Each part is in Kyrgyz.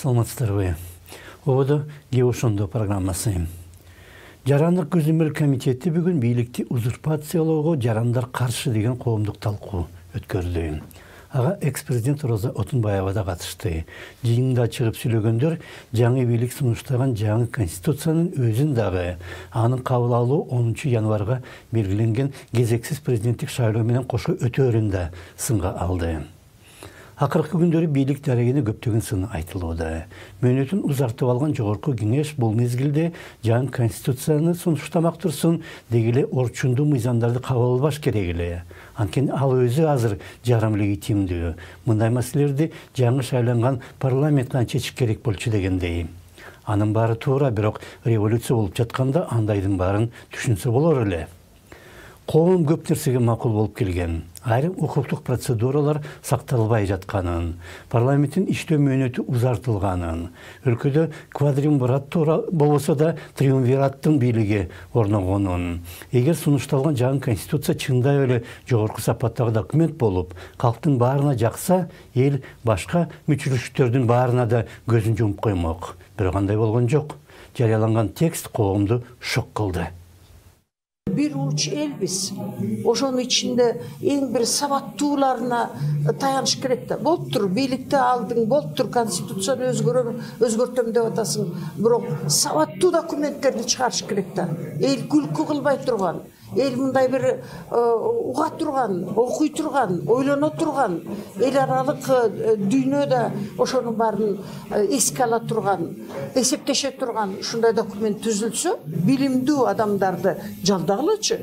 Саламатсыздарбы. Ободо Геошондо программасы. Жарандык көзөмөл комитети бүгүн бийликти узурпациялоого жарандар каршы деген коомдук талкуу өткөрдү. Ага экс-президент Роза Отунбаева да катышты. Жыйында чыгып сүйлөгөндөр жаңы бийлик сунуштаган жаңы конституциянын өзүн дагы анын кабыл алуу 10 январга белгиленген кезексиз президенттик шайлоо менен кошо өтөөрүн да сынга алды. Акыркы күндөрү бийлик дарегине көптөгөн сын айтылууда. Мөөнөтүн узартып алган жогорку кеңеш бул мезгилде жаңы конституцияны сунуштамак турсун дегиле орчундуу мыйзамдарды кабыл албаш керек эле. Анткени ал өзү азыр жарым легитимдүү. Мындай маселелерди жаңы шайланган парламент гана чечиш керек болчу дегендей. Анын баары туура, бирок революция болуп жатканда андайдын баарын түшүнсө болор эле. Коом көп нерсеге макул болуп келген. Айрым укуктук процедуралар сакталбай жатканын, парламенттин иштөө мөөнөтү узартылганын, өлкөдө квадримвират болбосо да триумвираттын бийлиги орногонун. Эгер сунушталган жаңы конституция чындап эле жогорку сапаттагы документ болуп, калктын баарына жакса, эл башка мүчүлүштөрдүн баарына да көзүн жумуп коймок. Бирок андай болгон жок. Жарыяланган текст коомду шок кылды. Bir uç elbiz. Ошонун ичинде эң бир сабаттууларына таяныш керек да. Болуптур, бийликти алдың, болуптур, конституцияны өзгөртөм деп атасың. Бирок сабаттуу документтерди чыгарыш керек да. Эл күлкү кылбай турган, эл мындай бир уга турган, окуй турган, ойлоно турган, эл аралык дүйнөдө ошонун баарын эске ала турган, эсептеше турган ушундай документ түзүлсө, билимдүү адамдарды жалдагылычы.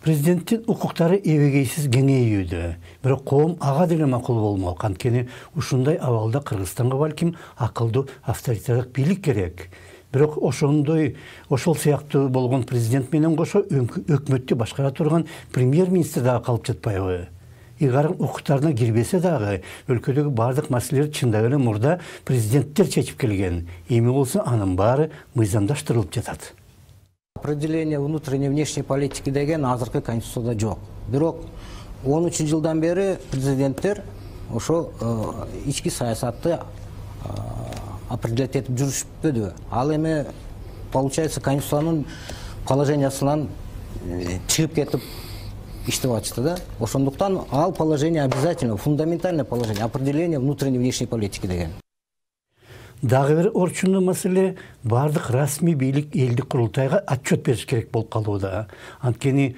Президенттин укуктары эбегейсиз кеңейүүдө, бирок коом ага деле макул болмок. Анткени ушундай абалда Кыргызстанга балким акылдуу авторитарлык бийлик керек. Бирок ошол сыяктуу болгон президент менен кошо өкмөттү башкара турган премьер-министр дагы калып жатпайбы? Игарын укуктарына кирбесе дагы өлкөдөгү бардык маселелер чындап эле мурда президенттер чечип келген. Эми болсо анын баары мыйзамдаштырылып жатат. Определение внутренней и внешней политики деген азыркы конституцияда жок. Бирок 13 жылдан бери президенттер ошо ички саясатты определять этип жүрүшпөдү. Ал эми получается конституциянын положениясынан чыгып кетип иштеп атышты да. Ошондуктан ал положение обязательно, фундаментальное положение, определение внутренней и внешней политики деген. Дагы бир орчундуу маселе бардык расмий бийлик элдик курултайга отчет бериш керек болуп калууда. Анткени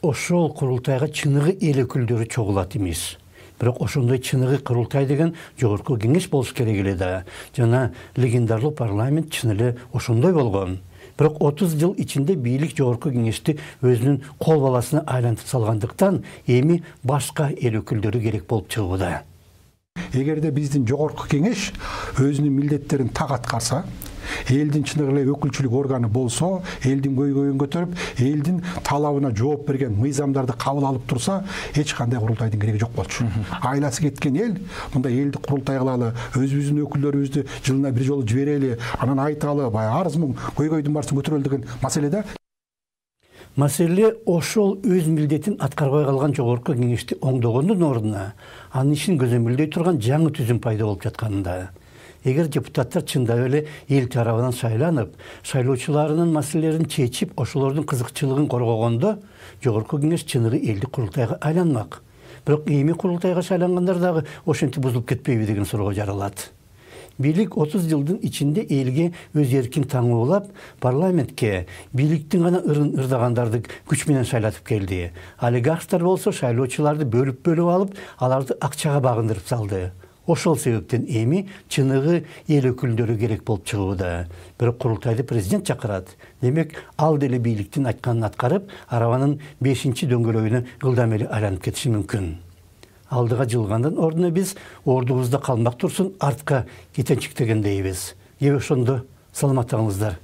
ошол курултайга чыныгы эл өкүлдөрү чогулат эмес. Бирок ошондой чыныгы курултай деген жогорку кеңеш болуш керек эле да. Жана легендарлуу парламент чын эле ошондой болгон. Бирок 30 жыл ичинде бийлик жогорку кеңешти өзүнүн кол баласына айлантып салгандыктан эми башка эл өкүлдөрү керек болуп чыгууда. Эгерде биздин жогорку кеңеш өзүнүн милдеттерин так аткарса, элдин чыныгы эле өкүлчүлүк органы болсо, элдин көйгөйүн көтөрүп, элдин талабына жооп берген мыйзамдарды кабыл алып турса, эч кандай курултайдын кереги жок болчу. Айласы кеткен эл мындай элди курултай кылалы, өзүбүздүн өкүлдөрүбүздү жылына бир жолу жиберели, анан айталы, баягы арыз муң көйгөйдүн баарысын көтөрөлү деген маселеде. Маселе ошол өз милдетин аткарбай калган жогорку кеңешти оңдогондун ордуна анын ишин көзөмөлдөй турган жаңы түзүм пайда болуп жатканында. Эгер депутаттар чындап эле эл тарабынан шайланып, шайлоочуларынын маселелерин чечип, ошолордун кызыкчылыгын коргогондо, жогорку кеңеш чыныгы элдик курултайга айланмак. Бирок эми курултайга шайлангандар дагы ошентип бузулуп кетпейби деген суроо жаралат. Бийлик 30 жылдын ичинде элге өз эркин таңуулап, парламентке бийликтин гана ырдагандарды күч менен шайлатып келди. Олигархтар болсо шайлоочуларды бөлүп алып, аларды акчага багындырып салды. Ошол себептен эми чыныгы эл өкүлдөрү керек болуп чыгууда. Бирок курултайды президент чакырат. Демек, ал деле бийликтин айтканын аткарып, арабанын 5-чи дөңгөлөгүнө ылдам эле айланып кетиши мүмкүн. Алдыга жылгандын ордуна биз ордубузда калмак турсун, артка кетенчиктегендейбиз. Ошондо саламаттыгыңыздар.